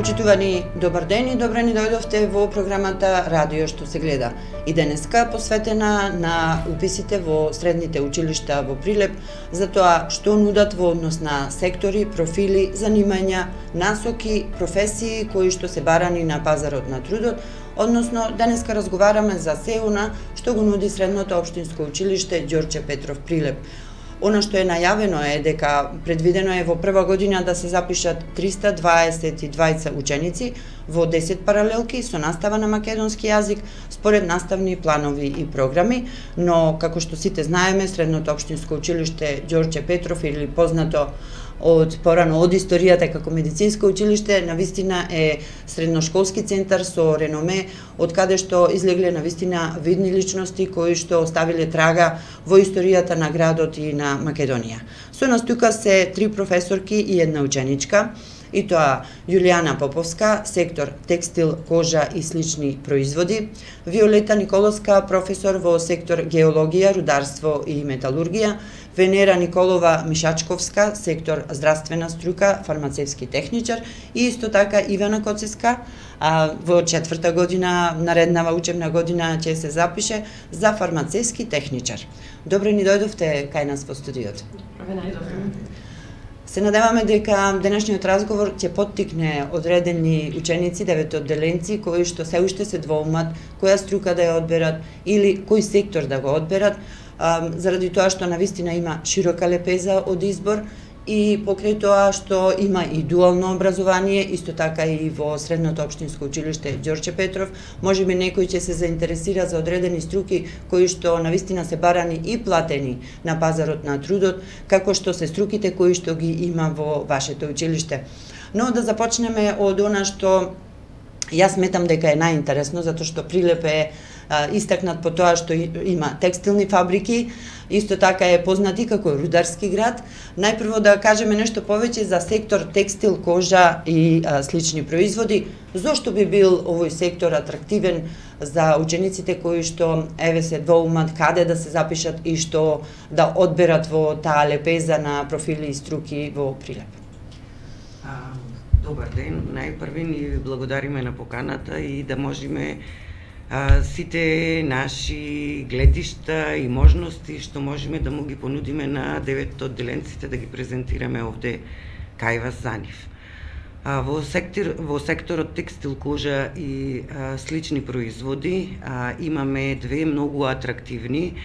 Почитувани, добар ден и добре ни дојдовте во програмата Радио што се гледа. И денеска посветена на уписите во средните училишта во Прилеп, за тоа што нудат во однос на сектори, профили, занимања, насоки, професии кои што се барани на пазарот на трудот, односно денеска разговараме за се она што го нуди средното општинско училиште Ѓорче Петров Прилеп. Она што е најавено е дека предвидено е во прва година да се запишат 322 ученици во 10 паралелки со настава на македонски јазик според наставни планови и програми, но како што сите знаеме, средното општинско училиште Ѓорче Петров, или познато од порано од историјата како медицинско училиште, навистина е средношколски центар со реноме, од каде што излегле навистина видни личности кои што оставиле трага во историјата на градот и на Македонија. Со нас тука се 3 професорки и една ученичка, и тоа Јулијана Поповска, сектор текстил, кожа и слични производи, Виолета Николовска, професор во сектор геологија, рударство и металургија, Венера Николова Мишачковска, сектор здравствена струка, фармацевски техничар, и исто така Ивана Коцеска, во 4-та година, нареднава учебна година ќе се запише за фармацевски техничар. Добре ни дојдовте кај нас во студиото. Се надеваме дека денешниот разговор ќе поттикне одредени ученици, 9 одделенци, кои што се уште се двоумат која струка да ја одберат или кој сектор да го одберат, заради тоа што навистина има широка лепеза од избор и покрај тоа што има и дуално образование, исто така и во средното општинско училиште Ѓорче Петров, можеби некој ќе се заинтересира за одредени струки кои што навистина се барани и платени на пазарот на трудот, како што се струките кои што ги има во вашето училиште. Но да започнеме од она што јас сметам дека е најинтересно, затоа што Прилеп е истакнат по тоа што има текстилни фабрики, исто така е познат и како рударски град. Најпрво да кажеме нешто повеќе за сектор текстил, кожа и слични производи. Зошто би бил овој сектор атрактивен за учениците кои што еве се двоумат каде да се запишат и што да одберат во таа лепеза на профили и струки во Прилеп? Добар ден, најпрви ни благодариме на поканата и да можеме сите наши гледишта и можности што можеме да му ги понудиме на 9 одделенците да ги презентираме овде кај вас за нив. Во секторот текстил, кожа и слични производи имаме две многу атрактивни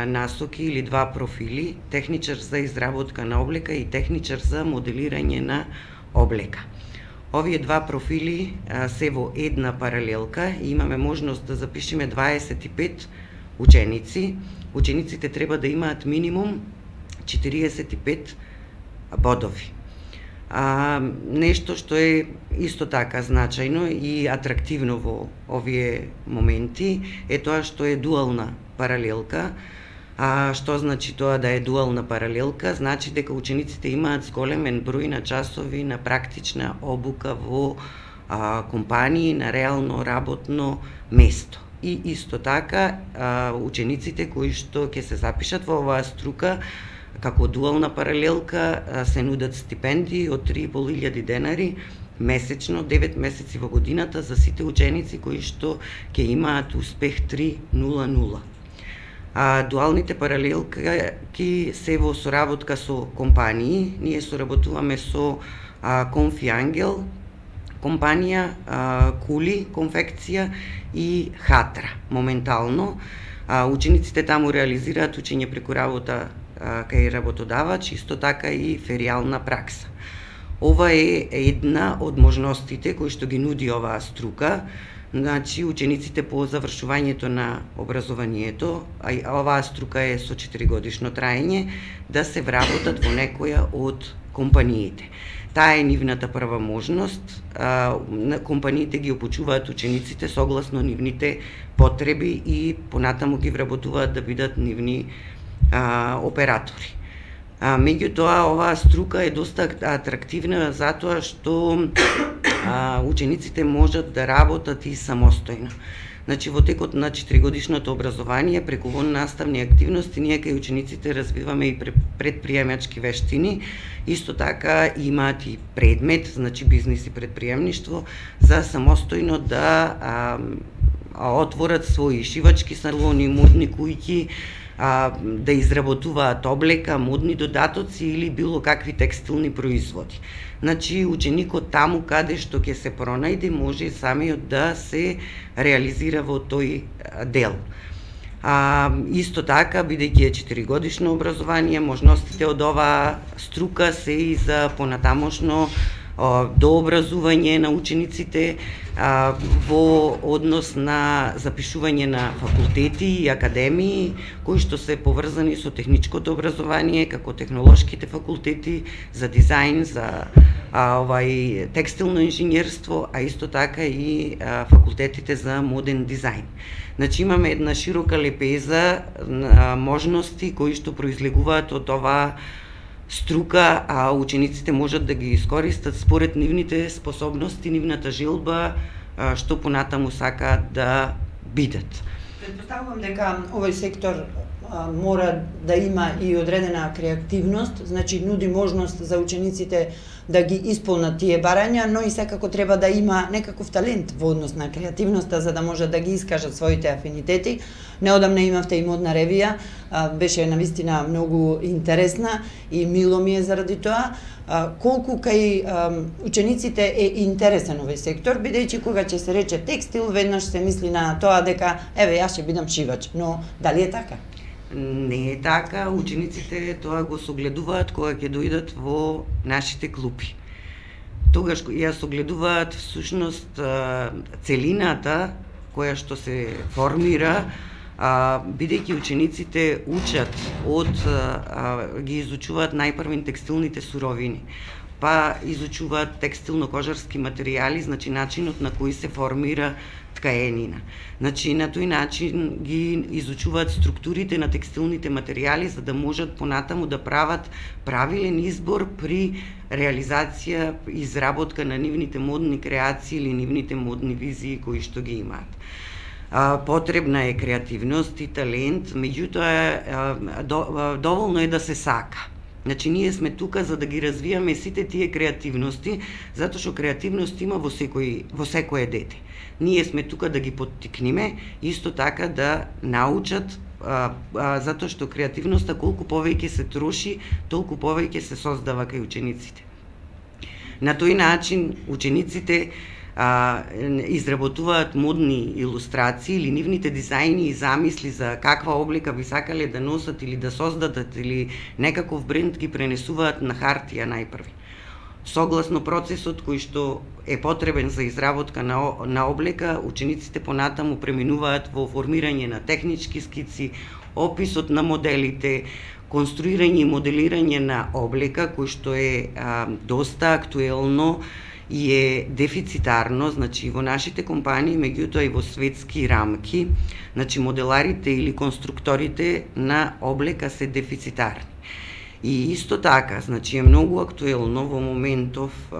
насоки или 2 профили: техничар за изработка на облека и техничар за моделирање на облека. Овие 2 профили се во една паралелка и имаме можност да запишеме 25 ученици. Учениците треба да имаат минимум 45 бодови. Нешто што е исто така значајно и атрактивно во овие моменти е тоа што е дуална паралелка. Што значи тоа да е дуална паралелка? Значи дека учениците имаат зголемен број на часови на практична обука во компании на реално работно место. И исто така учениците кои што ќе се запишат во оваа струка како дуална паралелка се нудат стипендии од 3.500 денари месечно, 9 месеци во годината за сите ученици кои што ќе имаат успех 3.0.0. Дуалните паралелки се во соработка со компании. Ние соработуваме со Конфиангел компанија, Кули конфекција и Хатра. Моментално учениците таму реализираат учење преку работа кај работодавач, исто така и феријална пракса. Ова е една од можностите кои што ги нуди оваа струка. Значи, учениците по завршувањето на образованието, а оваа струка е со 4-годишно траење, да се вработат во некоја од компаниите. Таа е нивната прва можност. Компаниите ги опучуваат учениците согласно нивните потреби и понатаму ги вработуваат да бидат нивни оператори. Меѓутоа, оваа струка е доста атрактивна затоа што учениците можат да работат и самостојно. Значи во текот на 4-годишното образование преку наставни активности ние кај учениците развиваме и предприемачки вештини. Исто така имаат и предмет, значи бизнис и предприемништво, за самостојно да отворат своји шивачки салони, модни куќи, да изработуваат облека, модни додатоци или било какви текстилни производи. Значи, ученикот таму каде што ќе се пронајде, може самиот да се реализира во тој дел. Исто така, бидејќи е 4-годишно образование, можностите од оваа струка се и за понатамошно дообразување на учениците во однос на запишување на факултети и академии кои што се поврзани со техничкото образование, како технолошките факултети за дизајн, за текстилно инженерство, а исто така и факултетите за моден дизајн. Значи имаме една широка лепеза можности кои што произлегуваат од оваа струка, а учениците можат да ги искористат според нивните способности, нивната желба, што понатаму сакаат да бидат. Предпоставувам дека овој сектор мора да има и одредена креативност, значи нуди можност за учениците да ги исполнат тие барања, но и секако треба да има некаков талент во однос на креативноста за да може да ги искажат своите афинитети. Неодамна имавте и модна ревија, беше навистина многу интересна и мило ми е заради тоа. Колку кај учениците е интересен овој сектор, бидејќи кога ќе се рече текстил, веднаш се мисли на тоа дека еве јас ќе бидам шивач, но дали е така? Не е така, учениците тоа го согледуваат кога ќе дојдат во нашите клупи. Тогаш ја согледуваат всушност целината која што се формира, бидејќи учениците учат ги изучуваат најпрвен текстилните суровини, па изучуваат текстилно-кожарски материјали, значи начинот на кој се формира ткаенина. Значи на тој начин ги изучуваат структурите на текстилните материјали за да можат понатаму да прават правилен избор при реализација, изработка на нивните модни креации или нивните модни визии кои што ги имаат. Потребна е креативност и талент, меѓутоа доволно е да се сака. Значи, ние сме тука за да ги развијаме сите тие креативности, затоа што креативност има во секое дете. Ние сме тука да ги поттикнеме, исто така да научат, затоа што креативноста колку повеќе се троши, толку повеќе се создава кај учениците. На тој начин учениците изработуваат модни илустрации или нивните дизајни и замисли за каква облека би сакале да носат или да создадат или некаков бренд ги пренесуваат на хартија најпрви. Согласно процесот кој што е потребен за изработка на облека, учениците понатаму преминуваат во формирање на технички скици, описот на моделите, конструирање и моделирање на облека кој што е доста актуелно и е дефицитарно, значи во нашите компании, меѓутоа и во светски рамки, значи моделарите или конструкторите на облека се дефицитарни. И исто така, значи е многу актуелно во моментов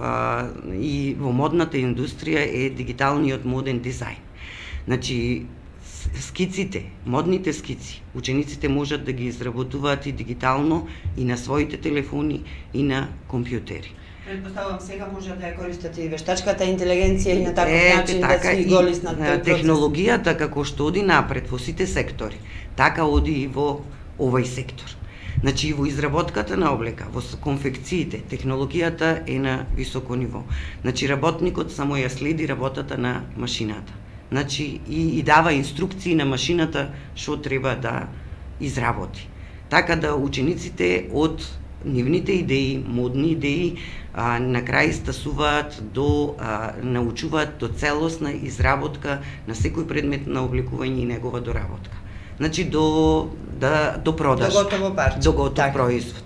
и во модната индустрија е дигиталниот моден дизајн. Значи скиците, модните скици, учениците можат да ги изработуваат и дигитално и на своите телефони и на компјутери. Предпоставувам сега може да ја користат и вештачката интелигенција и на таков начин да си голиснат тој процес. Технологијата како што оди напред во сите сектори, така оди и во овој сектор. Значи, во изработката на облека, во конфекциите, технологијата е на високо ниво. Значи, работникот само ја следи работата на машината. Значи, и дава инструкции на машината што треба да изработи. Така да учениците од нивните идеи, модни идеи, на крај стасуваат научуваат до целосна изработка на секој предмет на обликување и негова доработка. Значи до продаж, до готово парче, до готов производ.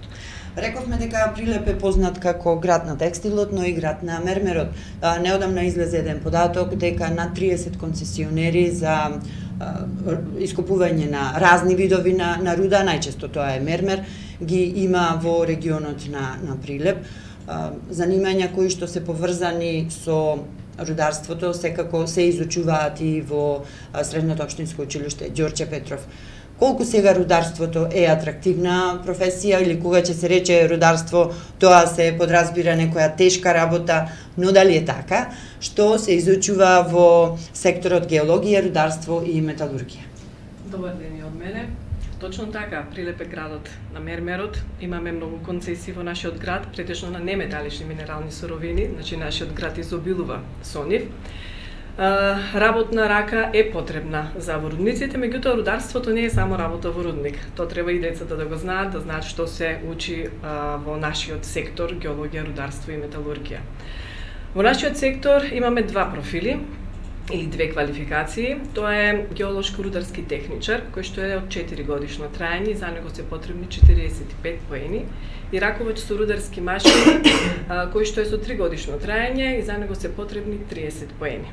Рековме дека Прилеп е познат како град на текстилот, но и град на мермерот. Неодамна излезе еден податок дека над 30 концесионери за искупување на разни видови на руда, најчесто тоа е мермер, ги има во регионот на Прилеп. Занимања кои што се поврзани со рударството секако се изучуваат и во Средното општинско училиште Ѓорче Петров. Колку сега рударството е атрактивна професија или кога ќе се рече рударство, тоа се подразбира некоја тешка работа, но дали е така, што се изучува во секторот геологија, рударство и металургија? Добар ден и од мене. Точно така, Прилеп е градот на мермерот, имаме многу концесии во нашиот град, претежно на неметалични минерални суровини, значи нашиот град изобилува со нив. Работна рака е потребна за во рудниците, меѓутоа рударството не е само работа во рудник. Тоа треба и децата да го знаат, да знаат што се учи во нашиот сектор геологија, рударство и металургија. Во нашиот сектор имаме два профили или две квалификации. Тоа е геолошко-рударски техничар, кој што е од 4 годишно траење и за него се потребни 45 поени, и раковач со рударски машини, кој што е со 3 годишно траење и за него се потребни 30 поени.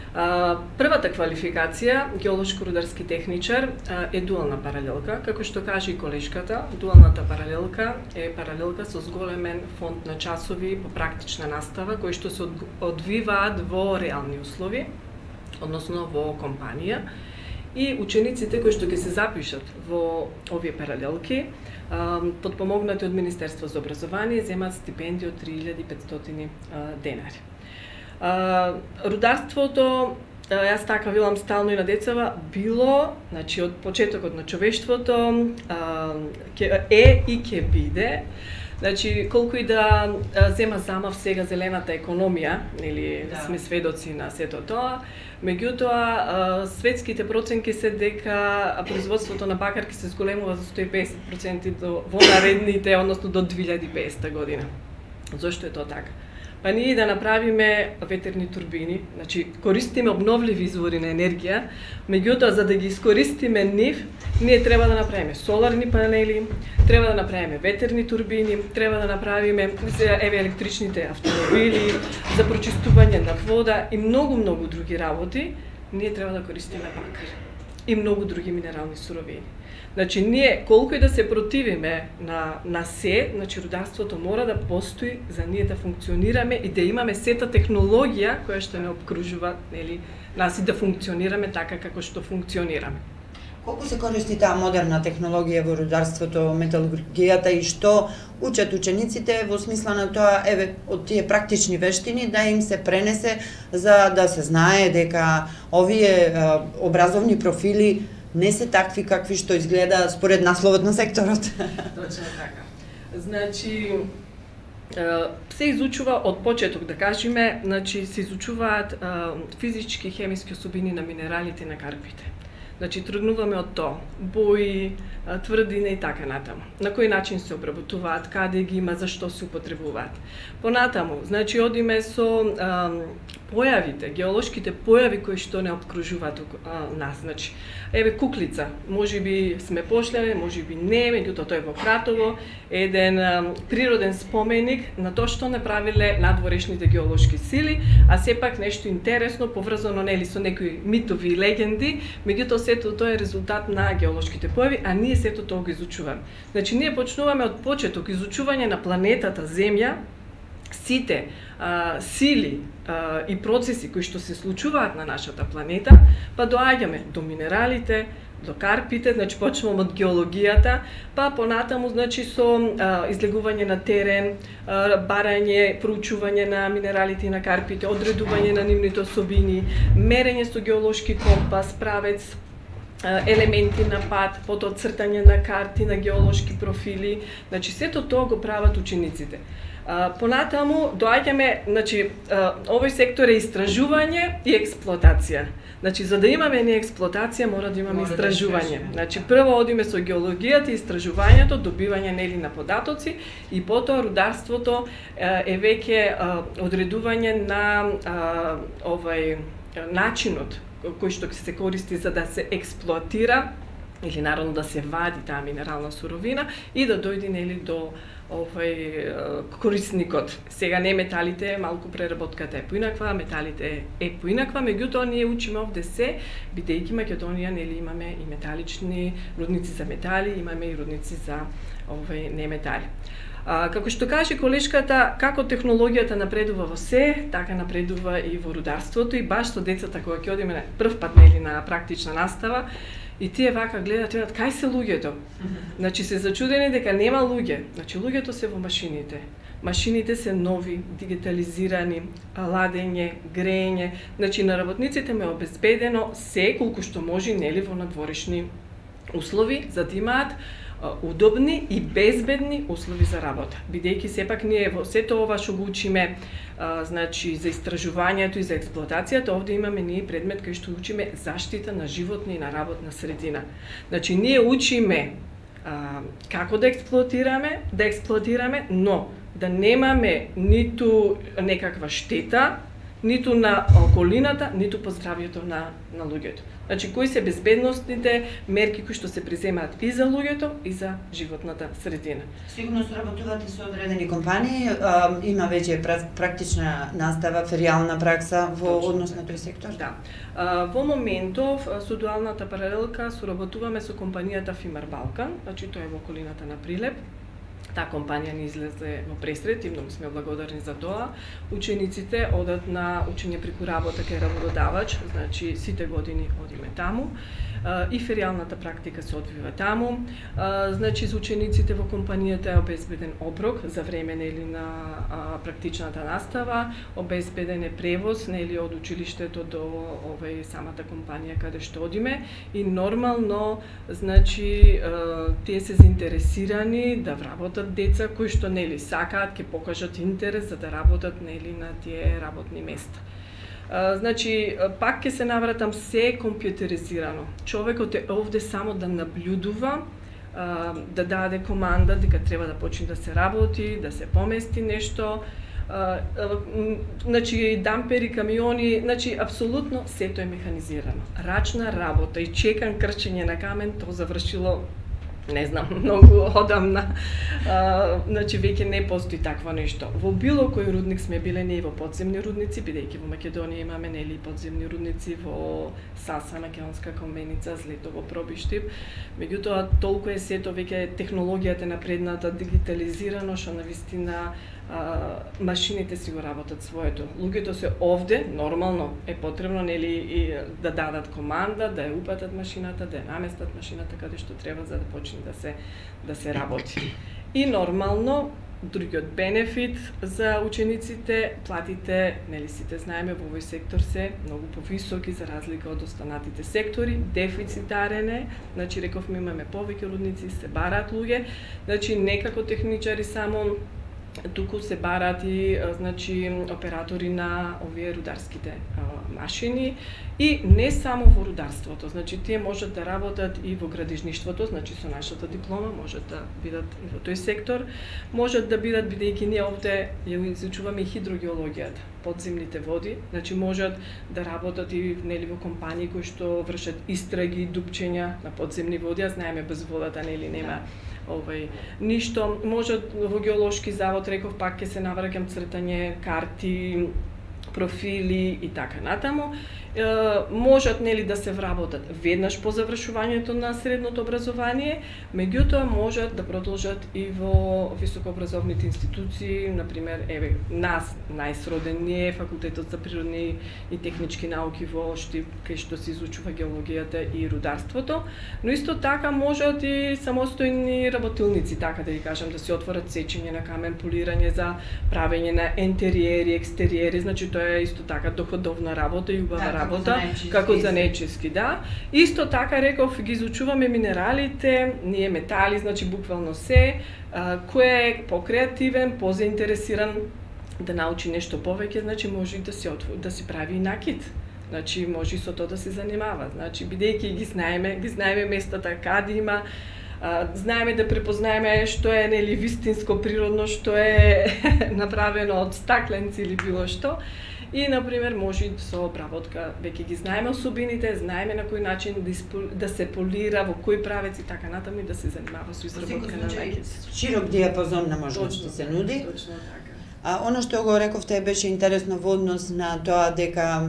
Првата квалификација, геолошко-рударски техничар, е дуална паралелка, како што кажа и колешката. Дуалната паралелка е паралелка со зголемен фонд на часови по практична настава, кои што се одвиваат во реални услови, односно во компанија. И учениците кои што ќе се запишат во овие паралелки, подпомогнати од Министерство за образование, земаат стипендија од 3500 денари. Рударството, јас така велам стално и на децава, било, значи од почетокот на човештвото е и ќе биде. Значи, колку и да зема замав сега зелената економија, нели сме сведоци на сето тоа, меѓутоа светските проценки се дека производството на бакарки се зголемува за 150% во наредните, односно до 2050 година. Зошто е тоа така? Па ние да направиме ветерни турбини, значи користиме обновливи извори на енергија, меѓутоа за да ги искористиме нив, ние треба да направиме соларни панели, треба да направиме ветерни турбини, треба да направиме електричните автомобили, за прочистување на вода и многу други работи, ние треба да користиме бакар и многу други минерални суровини. Значи, ние, колку и да се противиме на се, значи, рударството мора да постои за ние да функционираме и да имаме сета технологија која што не обкружува, нели, нас и да функционираме така како што функционираме. Колку се користи таа модерна технологија во рударството, металургијата и што учат учениците во смисла на тоа, од тие практични вештини да им се пренесе за да се знае дека овие образовни профили не се такви какви што изгледа според насловот на секторот. Точно така. Значи, се изучува од почеток, да кажеме, значи се изучуваат физички и хемиски особини на минералите и на карпите. Значи, тргнуваме од тоа, бои, тврдина и така натаму. На кој начин се обработуваат, каде ги има, зашто се употребуваат. Понатаму, значи, одиме со појавите, геолошките појави кои што не обкружуваат нас. Значи, куклица, можеби сме пошлеме, можеби не, меѓутоа тој е во Кратово, еден природен споменик на тоа што направиле надворешните геолошки сили, а сепак нешто интересно, поврзано нели со некои митови и легенди, меѓутоа сето тоа е резултат на геолошките појави, а ние сето тоа го изучуваме. Значи, ние почнуваме од почеток изучување на планетата Земја, сите сили и процеси кои што се случуваат на нашата планета, па доаѓаме до минералите, до карпите, значи почнуваме од геологијата, па понатаму значи со излегување на терен, барање, проучување на минералите и на карпите, одредување на нивните особини, мерење со геолошки компас, правец, елементи на пат, потоа цртање на карти, на геолошки профили, значи сето тоа го прават учениците. Понатаму доаѓаме, значи овој сектор е истражување и експлоатација. Значи за да имаме не експлоатација мора да имаме истражување. Значи прво одиме со геологијата и истражувањето, добивање нели на податоци и потоа рударството е веќе одредување на начинот кој што се користи за да се експлоатира или народно да се вади таа минерална суровина и да дојде нели до корисникот. Сега не металите, малку преработката е поинаква, металите е поинаква, меѓутоа ние учиме овде се, бидејќи Македонија нели имаме и металични рудници за метали, имаме и рудници за неметали. Како што каже колешката, како технологијата напредува во се, така напредува и во рударството, и баш со децата кога ќе одиме прв пат нели на практична настава, и тие вака гледат, видат кај се луѓето. Значи се зачудени дека нема луѓе. Значи луѓето се во машините. Машините се нови, дигитализирани, ладење, грење. Значи на работниците ме обезбедено се колку што може нели во надворешни услови за да имаат удобни и безбедни услови за работа. Бидејќи сепак ние во сето ова што го учиме, значи за истражувањето и за експлоатацијата, овде имаме ние предмет кај што учиме заштита на животна и на работна средина. Значи ние учиме како да експлоатираме, но да немаме ниту некаква штета, ниту на околината, ниту по здравјето на луѓето. Значи, кои се безбедносните мерки кои што се преземаат и за луѓето, и за животната средина. Сигурно соработувате со одредени компании, има веќе практична настава, феријална пракса во однос на тој сектор? Да. Во моментов, со дуалната паралелка соработуваме со компанијата Фимар Балкан, значи тоа е во околината на Прилеп. Таа компанија ни излезе во пресред и многу сме благодарни за тоа. Учениците одат на учење преку работа кај работодавач, значи сите години одиме таму. И феријалната практика се одвива таму. Значи за учениците во компанијата е обезбеден оброк за време нели на практичната настава, обезбеден е превоз нели од училиштето до самата компанија каде што одиме и нормално значи тие се заинтересирани да вработат деца кои што нели сакаат, ќе покажат интерес за да работат нели на тие работни места. Значи, пак ќе се навратам, се е компјутеризирано. Човекот е овде само да наблюдува, да даде команда дека треба да почне да се работи, да се помести нешто. Значи, дампери, камиони, значи, апсолутно сето е механизирано. Рачна работа и чекан крчење на камен, тоа завршило не знам, многу одамна, значи веќе не постои такво нешто. Во било кој рудник сме биле ние во подземни рудници, бидејќи во Македонија имаме нели подземни рудници во Саса, Македонска Комбеница, Злетово, Пробиштип. Меѓутоа толку е сето веќе технологијата напредната, дигитализирано, што навистина машините си го работат своето. Луѓето се овде, нормално е потребно нели и да дадат команда, да ја упатат машината, да ја наместат машината каде што треба за да почне да се работи. И нормално другиот бенефит за учениците, платите, нели сите знаеме во овој сектор се многу повисоки за разлика од останатите сектори, дефицитарен е, значи рековме имаме повеќе рудници, се бараат луѓе, значи некако техничари само туку се бараат и значи оператори на овие рударските машини и не само во рударството, значи тие можат да работат и во градежништвото, значи со нашата диплома можат да бидат и во тој сектор, можат да бидат бидејќи ние овде ја изучуваме и хидрогеологијата, подземните води, значи можат да работат и нели во компании кои што вршат истраги, дупчења на подземни води, а знаеме без водата нели нема ништо. Можат во геолошки завод, реков пак ќе се навраќам цртање карти, профили и така натаму. Можат нели да се вработат веднаш по завршувањето на средното образование, меѓутоа можат да продолжат и во високообразовните институции, например, еве нас најсроден ни е факултетот за природни и технички науки во Штип, кај што се изучува геологијата и рударството, но исто така можат и самостојни работилници, така да ги кажам, да се отворат сечење на камен, полирање за правење на интериери, екстериери, значи тоа е исто така доходовна работа и убава работа, како за нечиски, да. Исто така, реков, ги изучуваме минералите, ние метали, значи буквално се, кој е покреативен, позаинтересиран да научи нешто повеќе, значи може и да си прави и накид. Значи може и со тоа да се занимава. Значи бидејќи ги знаеме местата каде има, знаеме да препознаеме што е нели вистинско природно, што е направено од стакленци или било што. И, например, може со обработка, веќе ги знаеме особините, знаеме на кој начин да се полира, во кој правец и така натаму, да се занимава со изработка на најките. Широк диапазон на можности се нуди. Точно така. Она што го рековте беше интересно во однос на тоа дека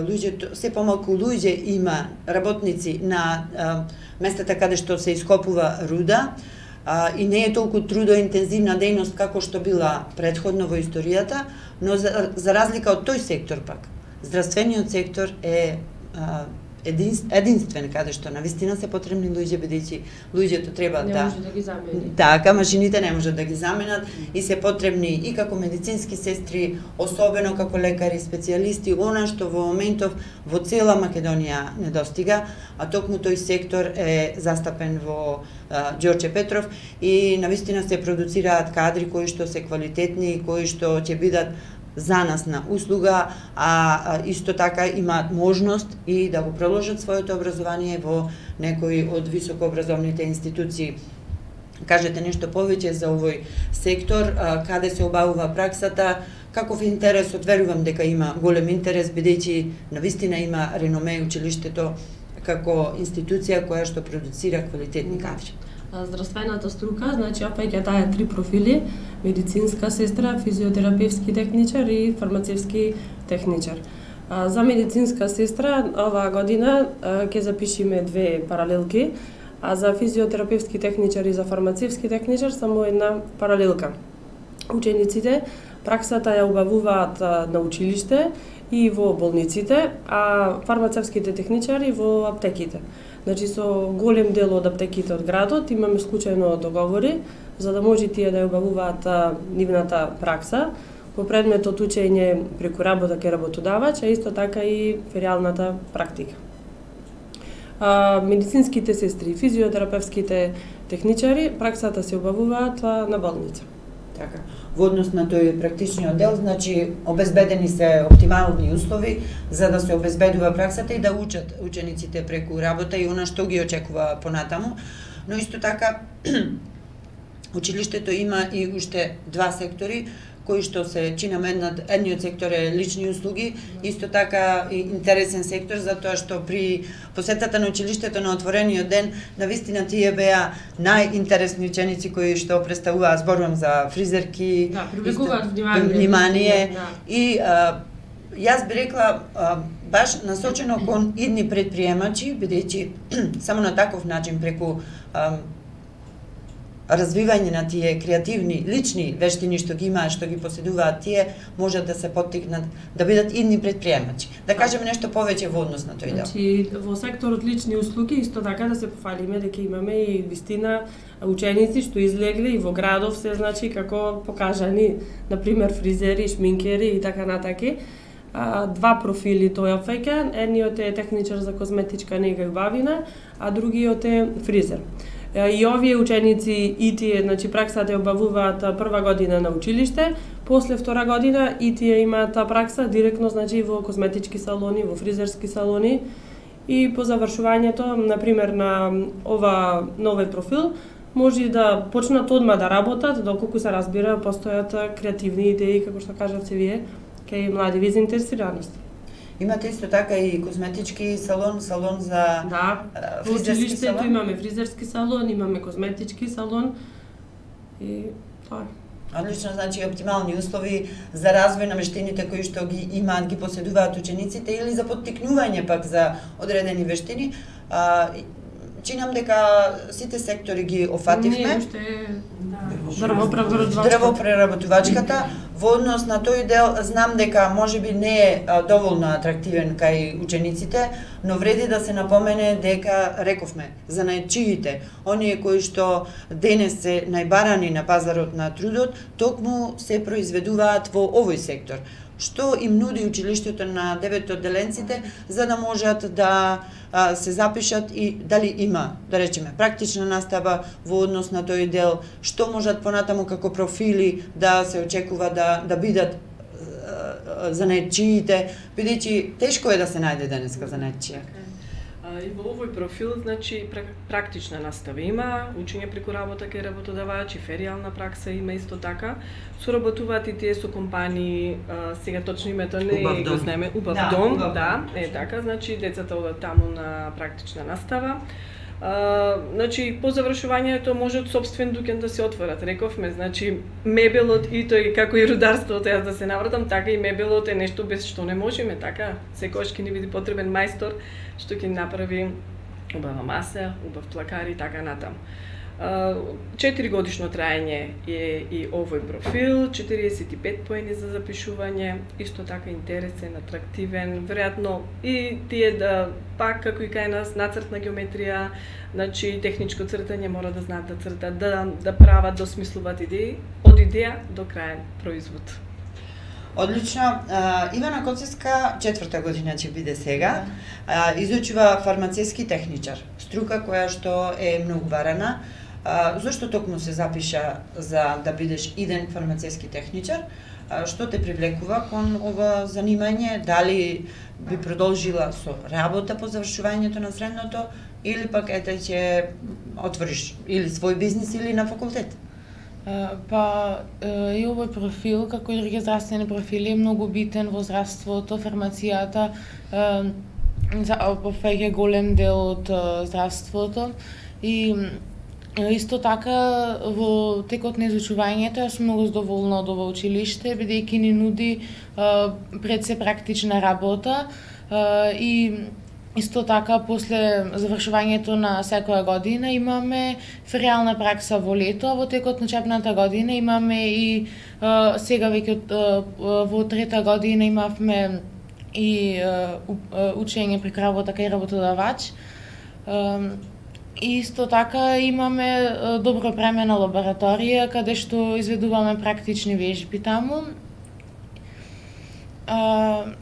луѓето, се помалку луѓе има работници на местата каде што се ископува руда, и не е толку трудоинтензивна дејност како што била предходно во историјата, но за разлика од тој сектор пак, здравствениот сектор е единствен каде што навистина се потребни луѓе, бидејќи луѓето треба не може да ги замени. Така, машините не можат да ги заменат и се потребни и како медицински сестри, особено како лекари, специјалисти, она што во моментов во цела Македонија недостига, а токму тој сектор е застапен во Ѓорче Петров и навистина се продуцираат кадри кои што се квалитетни, кои што ќе бидат за нас на услуга, а исто така имаат можност и да го продолжат своето образование во некои од високообразовните институции. Кажете нешто повеќе за овој сектор, каде се обавува праксата, каков интерес, верувам дека има голем интерес, бидејќи навистина има реноме училиштето како институција која што продуцира квалитетни кадри. Здравствената струка, значи опаѓа таа 3 профили: медицинска сестра, физиотерапевски техничар и фармацевски техничар. За медицинска сестра оваа година ќе запишеме 2 паралелки, а за физиотерапевски техничар и за фармацевски техничар само една паралелка. Учениците праксата ја обавуваат на училиште и во болниците, а фармацевските техничари во аптеките. Значи со голем дел од аптеките од градот имаме случајно договори за да може тие да ја обавуваат нивната пракса по предметот учење преку работа кај работодавач, а исто така и феријалната практика. Медицинските сестри, физиотерапевските техничари праксата се обавуваат на болница. Така. Во однос на тој практичниот дел, значи обезбедени се оптимални услови за да се обезбедува праксата и да учат учениците преку работа и она што ги очекува понатаму, но исто така училиштето има и уште 2 сектори кои што се чинаме. Едниот сектор е лични услуги, исто така и интересен сектор, затоа што при посетата на училиштето на отворениот ден, навистина тие беа најинтересни ученици кои што представуваат, зборувам за фризерки, привлекуваат внимание. И јас би рекла баш насочено кон идни предприемачи, бидејќи само на таков начин преку развивање на тие креативни, лични вештини што ги имаат, што ги поседуваат тие, можат да се поттикнат да бидат идни предприемачи. Да кажеме нешто повеќе во однос на тој дел. Значи, во секторот лични услуги исто така да се пофалиме дека имаме и вистина ученици што излегле и во градов се, значи, како покажани, например, фризери, шминкери и така натаки. 2 профили тој опфаќа, едниот е техничар за козметичка нега и убавина, а другиот е фризер. И овие ученици и тие, значи праксата ја обавуваат прва година на училиште, после втора година и тие имаат пракса директно, значи во козметички салони, во фризерски салони и по завршувањето, например на новој профил, може да почнат одма да работат, доколку се разбира постојат креативни идеи, како што кажавте вие, кај млади заинтересираност. Имате исто така и козметички салон, салон за фризерски салон? Училиштето имаме фризерски салон, имаме козметички салон и тоа. Одлично, значи оптимални услови за развој на вештините кои што ги имаат, ги поседуваат учениците или за поттикнување пак за одредени вештини. Чинам дека сите сектори ги офативме. Не, уште дрвопреработувачката. Во однос на тој дел знам дека можеби не е доволно атрактивен кај учениците, но вреди да се напомене дека рековме за најчиите, оние кои што денес се најбарани на пазарот на трудот, токму се произведуваат во овој сектор. Што им нуди училиштето на 9 одделенците за да можат да се запишат и дали има, да речеме, практична настава во однос на тој дел, што можат понатаму како профили да се очекува да бидат за најчиите, бидејќи тешко е да се најде денеска за најчија. И во овој профил, значи, практична настава има, учење преку работа кај работодавач и феријална пракса има исто така. Соработуваат и тие со компании, сега точно името не го знаеме, Убав дом, да, така, значи децата одат таму на практична настава. Значи, по завршувањето можат сопствен дуќан да се отворат, рековме, значи, мебелот и тој, како и рударството, јас да се навратам, така и мебелот е нешто без што не можеме, така, секојаш ќе ни биде потребен мајстор, што ќе направи убава маса, убав плакар и така натаму. 4 годишно траење е и овој профил, 45 поени за запишување, исто така интересен, атрактивен, веројатно и тие да, пак како и кај нас, нацртна геометрија, значи техничко цртање, мора да знаат да цртат, да прават, да осмислуваат идеи, од идеја до краен производ. Одлично. Ивана Коцевска, 4-та година ќе биде сега, изучува фармацевски техничар, струка која што е многу барана. Зошто токму се запиша за да бидеш иден фармацевски техничар? Што те привлекува кон ова занимање? Дали би продолжила со работа по завршувањето на средното или пак ете ќе отвориш или свој бизнис или на факултет? И овој профил, како и други здравствени профили, е многу битен во здравството, фармацијата опфаќа голем дел од здравството и исто така во текот на изучувањето јас сум многу задоволна од ова училиште, бидејќи ни нуди пред се практична работа и исто така после завршувањето на секоја година имаме феријална пракса во лето, а во текот на учебната година имаме и сега веќе во 3-та година имавме и учење преку работа кај работодавач. И исто така имаме добро премена лабораторија каде што изведуваме практични вежби таму.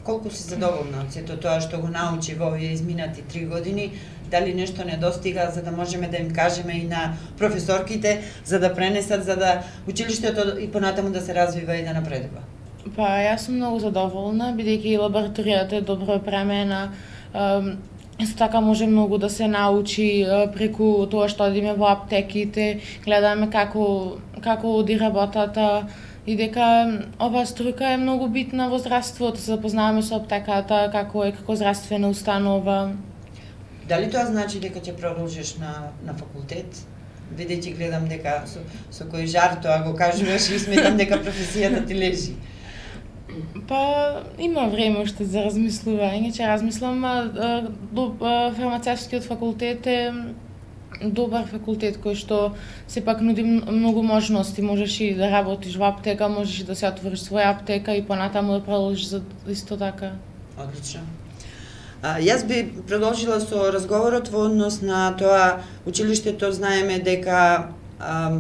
Колку си задоволна од сето тоа што го научи во овие изминати 3 години? Дали нешто недостига за да можеме да им кажеме и на професорките за да пренесат, за да училиштето и понатаму да се развива и да напредува? Јас сум многу задоволна, бидејќи лабораторијата е добро премена. Исто така може многу да се научи преку тоа што одиме во аптеките, гледаме како оди работата и дека оваа струка е многу битна во здравството, се запознаваме со аптеката, како здравствена установа. Дали тоа значи дека ќе продолжиш на факултет? Бидејќи гледам дека со кој жар тоа го кажуваш и сметам дека професијата ти лежи. Има време уште за размислување, ќе размислам. Фармацевскиот факултет е добар факултет кој што сепак нуди многу можности. Можеш и да работиш во аптека, можеш и да се отвориш своја аптека и понатаму да продолжиш исто така. Одлично. Јас би продолжила со разговорот во однос на тоа училиштето знаеме дека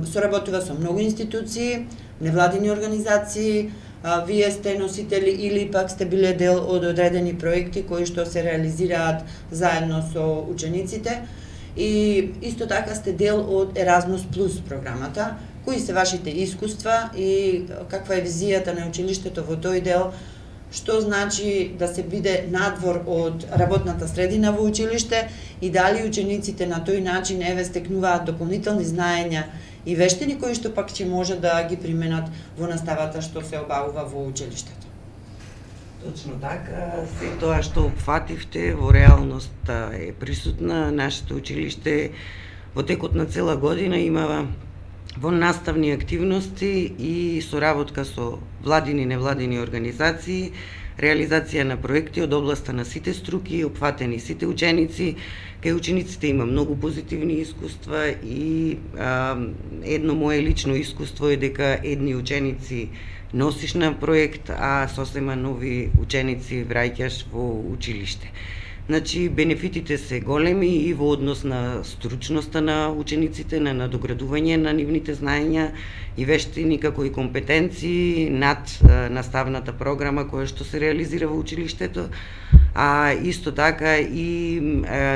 соработува со многу институции, невладини организации. Вие сте носители или пак сте биле дел од одредени проекти кои што се реализираат заедно со учениците и исто така сте дел од Erasmus Plus програмата. Кои се вашите искуства и каква е визијата на училиштето во тој дел? Што значи да се биде надвор од работната средина во училиште и дали учениците на тој начин стекнуваат дополнителни знаења и вештини кои што пак ќе може да ги применат во наставата што се обавува во училиштето. Точно така, се тоа што опфативте во реалност е присутна. Нашето училиште во текот на цела година имава во наставни активности и соработка со владини и невладини организации, реализација на проекти од областа на сите струки, опфатени сите ученици. Кај учениците има многу позитивни искуства и едно мое лично искуство е дека едни ученици носиш на проект, а сосема нови ученици враќаш во училиште. Значи, бенефитите се големи и во однос на стручноста на учениците, на надоградување на нивните знаења и вештини, како и компетенции над наставната програма која што се реализира во училиштето, а исто така и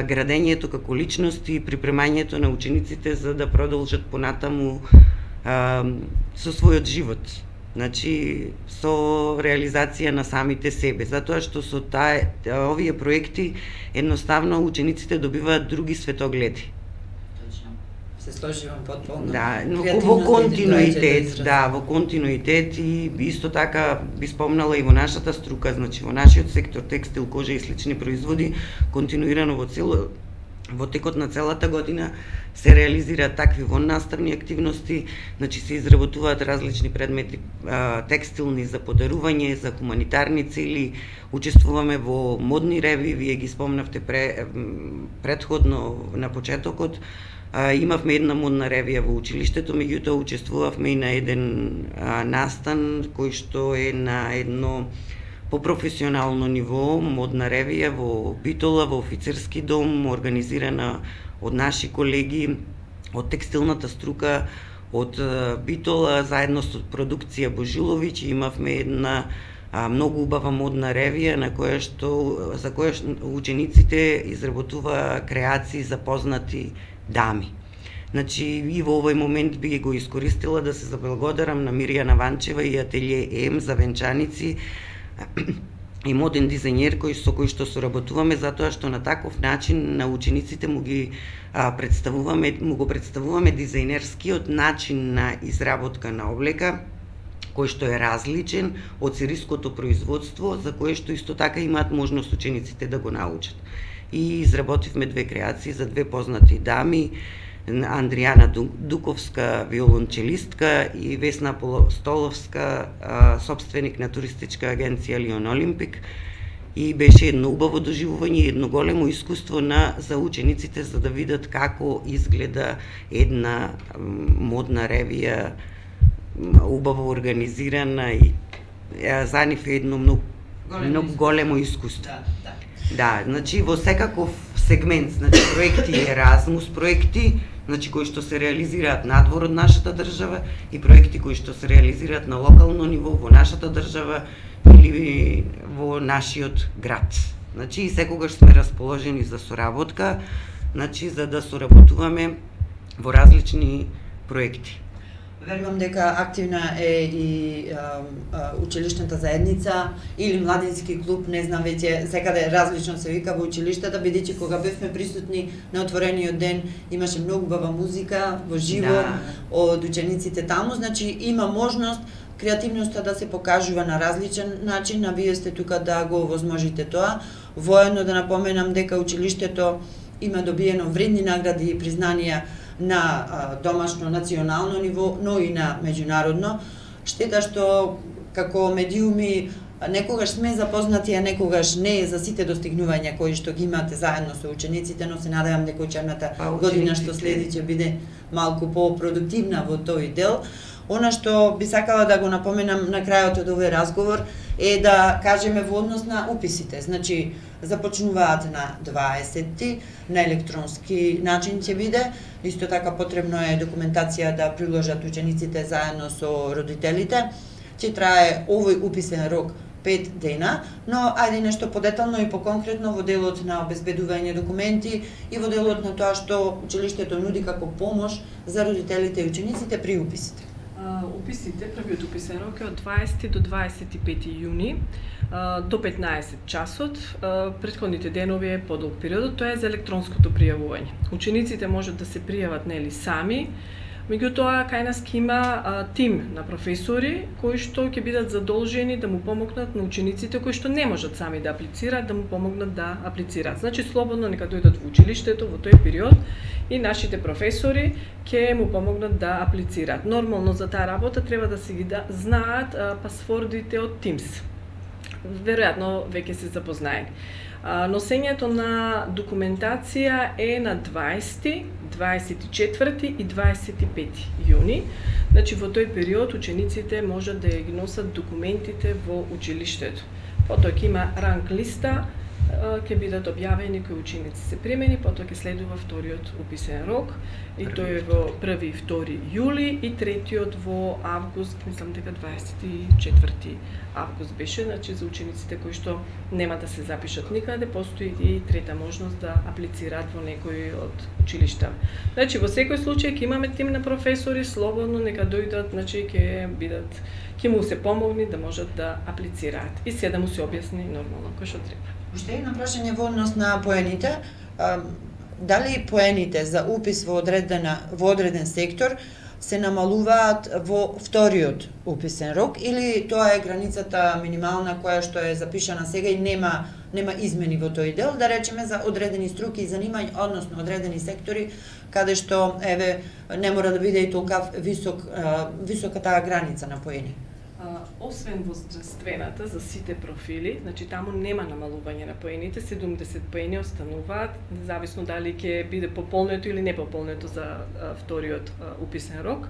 градењето како личности и припремањето на учениците за да продолжат понатаму со својот живот Значи, со реализација на самите себе, затоа што со овие проекти едноставно учениците добиваат други светогледи. Точно. Се сложувам потполно. Да, но во континуитет, во континуитет и исто така би спомнала и во нашата струка, значи во нашиот сектор текстил, кожа и слични производи, континуирано во текот на целата година се реализираат такви воннаставни активности, значи се изработуваат различни предмети текстилни за подарување, за хуманитарни цели, учествуваме во модни реви, вие ги спомнавте предходно на почетокот. Имавме една модна ревија во училиштето, меѓутоа учествувавме и на еден настан кој што е на едно по-професионално ниво, модна ревија во Битола, во офицерски дом, организирана од наши колеги од текстилната струка од Битола, заедно со продукција Божиловиќ. Имавме една многу убава модна ревија за која учениците изработува креации за познати дами. Значи, и во овој момент би го искористила да се заблагодарам на Мирјана Ванчева и Ателје М за венчаници и моден дизајнер со кој што соработуваме, затоа што на таков начин на учениците му го представуваме дизајнерскиот начин на изработка на облека, кој што е различен од сириското производство, за кое што исто така имаат можност учениците да го научат. И изработивме две креации за две познати дами, Андријана Дуковска, виолончелистка, и Весна Столовска, собственик на туристичка агенција Лион Олимпик. И беше едно убаво доживување, едно големо искуство за учениците, за да видат како изгледа една модна ревија, убаво организирана, и за нив е едно многу големо искуство. Да, значи во секаков сегмент, значи проекти Еразмус проекти, значи кои што се реализираат надвор од нашата држава, и проекти кои што се реализираат на локално ниво во нашата држава или во нашиот град. Значи и секогаш сме расположени за соработка, значи за да соработуваме во различни проекти. Верувам дека активна е и училишната заедница или младински клуб, не знам веќе, секаде различно се вика во училиштата, бидејќи кога бевме присутни на отворениот ден имаше многу убава музика во живо од учениците таму, значи има можност креативноста да се покажува на различен начин, а вие сте тука да го овозможите тоа. Воедно да напоменам дека училиштето има добиено вредни награди и признанија на домашно, национално ниво, но и на меѓународно. Штета што како медиуми некогаш сме запознати, а некогаш не за сите достигнувања кои што ги имате заедно со учениците, но се надевам дека учебната година што следи ќе биде малку по-продуктивна во тој дел. Она што би сакала да го напоменам на крајот од овој разговор е да кажеме во однос на уписите. Значи, започнуваат на 20-ти, на електронски начин ќе биде. Исто така потребно е документација да приложат учениците заедно со родителите. Ќе трае овој уписен рок 5 дена, но ајде нешто подетално и поконкретно во делот на обезбедување документи и во делот на тоа што училиштето нуди како помош за родителите и учениците при уписите. Уписите, првиот уписен рок е од 20 до 25 јуни до 15 часот. Претходните денови е подолг период, тоа е за електронското пријавување. Учениците можат да се пријават нели сами, меѓутоа кај нас ќе има тим на професори кои што ќе бидат задолжени да му помогнат на учениците кои што не можат сами да аплицираат, да му помогнат да аплицираат. Значи слободно нека дојдат во училиштето во тој период и нашите професори ќе му помогнат да аплицираат. Нормално за таа работа треба да се ги знаат пасвордите од Teams. Веројатно веќе се запознаени. Носењето на документација е на 20, 24 и 25 јуни. Значи во тој период учениците можат да ги носат документите во училиштето. Потоа ќе има ранг листа ќе бидат објавени кои ученици се примени, потоа ќе следува вториот уписен рок и тој е во 1 и 2 јули и третиот во август, мислам дека 24 август беше, значи за учениците кои што нема да се запишат никаде, постои и трета можност да аплицираат во некој од училишта. Значи во секој случај ќе имаме тим на професори, слободно нека дојдат, значи ќе му се помогне да можат да аплицираат и се да му се објасни нормално кој што треба. Уште едно прашање во однос на поените. Дали поените за упис во одреден сектор се намалуваат во вториот уписен рок или тоа е границата минимална која што е запишана сега и нема измени во тој дел, да речеме за одредени струки и занимања, односно одредени сектори каде што не мора да биде и толка висока таа граница на поени? Освен во здравствената за сите профили, значи таму нема намалување на поените, 70 поени остануваат, независно дали ќе биде пополнето или не пополнето за вториот уписен рок.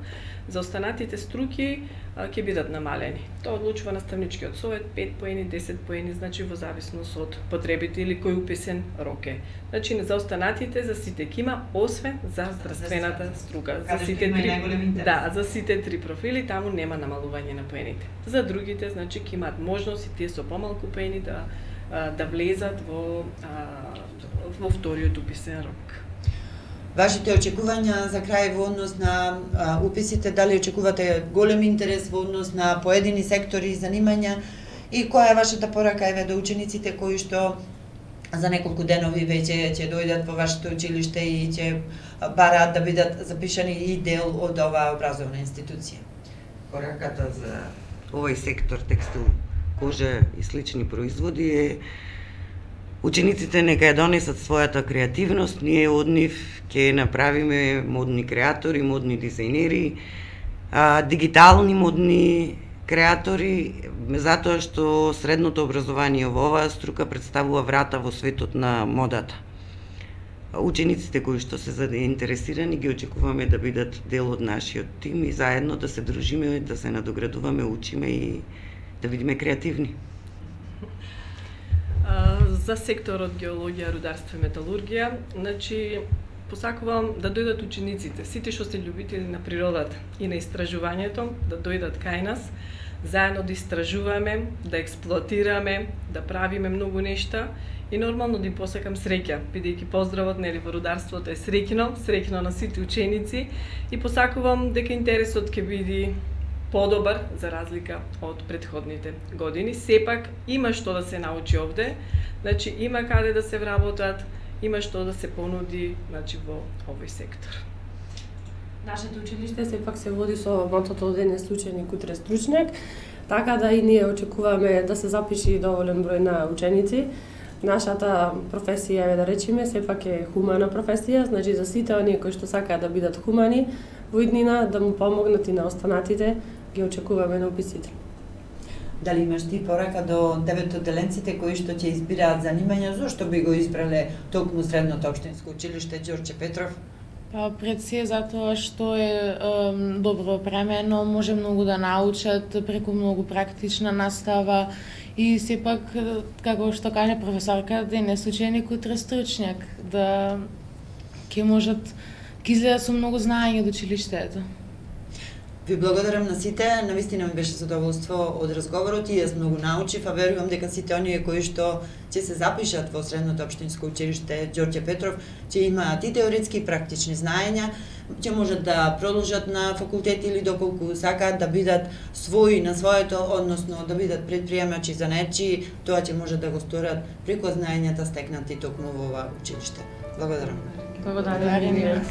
За останатите струки ќе бидат намалени. Тоа одлучува наставничкиот совет, 5 поени, 10 поени, значи во зависност од потребите или кој уписен рок е. Значи за останатите за сите ќе има, освен за здравствената струка. За сите за сите три профили таму нема намалување на поените. За другите, значи ќе имаат можност и тие со помалку поени да влезат во вториот уписен рок. Вашите очекувања за крај во однос на уписите, дали очекувате голем интерес во однос на поедини сектори и занимања и која е вашата порака до учениците кои што за неколку денови веќе ќе дојдат во вашето училиште и ќе бараат да бидат запишани и дел од оваа образовна институција? Пораката за овој сектор текстил, кожа и слични производи е учениците нека ја донесат својата креативност, ние од нив ќе направиме модни креатори, модни дизајнери, дигитални модни креатори, затоа што средното образование во оваа струка представува врата во светот на модата. Учениците кои што се заинтересирани ги очекуваме да бидат дел од нашиот тим и заедно да се дружиме, да се надоградуваме, учиме и да бидеме креативни. За секторот геологија, рударство и металургија, значи посакувам да дојдат учениците, сите што се љубители на природата и на истражувањето, да дојдат кај нас, заедно да истражуваме, да експлоатираме, да правиме многу нешта и нормално да им посакам среќа, бидејќи поздравот во рударството е среќно на сите ученици и посакувам дека интересот ќе биде подобар за разлика од претходните години. Сепак има што да се научи овде, значи има каде да се вработат, има што да се понуди, значи во овој сектор. Нашето училиште сепак се води со мотото денес ученик, утре стручњак, така да и ние очекуваме да се запиши доволен број на ученици. Нашата професија, да речеме, сепак е хумана професија, значи за сите оние кои што сакаат да бидат хумани во иднина, да му помогнат и на останатите, ги очекуваме на уписите. Дали имаш ти порака до деветоделенците кои што ќе избираат занимања, зошто би го избрале токму Средното општинско училиште Ѓорче Петров? Пред се затоа што е добро опремено, може многу да научат преку многу практична настава и сепак, како што каже професорка, денес ученик, утре стручњак, да ќе можат, ќе излезат со многу знаење од училиштето. Ви благодарам на сите, навистина ми беше задоволство од разговорот и јас многу научив, а верувам дека сите оние кои што ќе се запишат во Средното општинско училиште Ѓорче Петров ќе имаат и теоретски и практични знаења, ќе можат да продолжат на факултет или доколку сакаат да бидат своји на своето, односно да бидат предприемачи за нечи, тоа ќе можат да го сторат преку знаењата стекнати токму во ова училиште. Благодарам. Благодарам.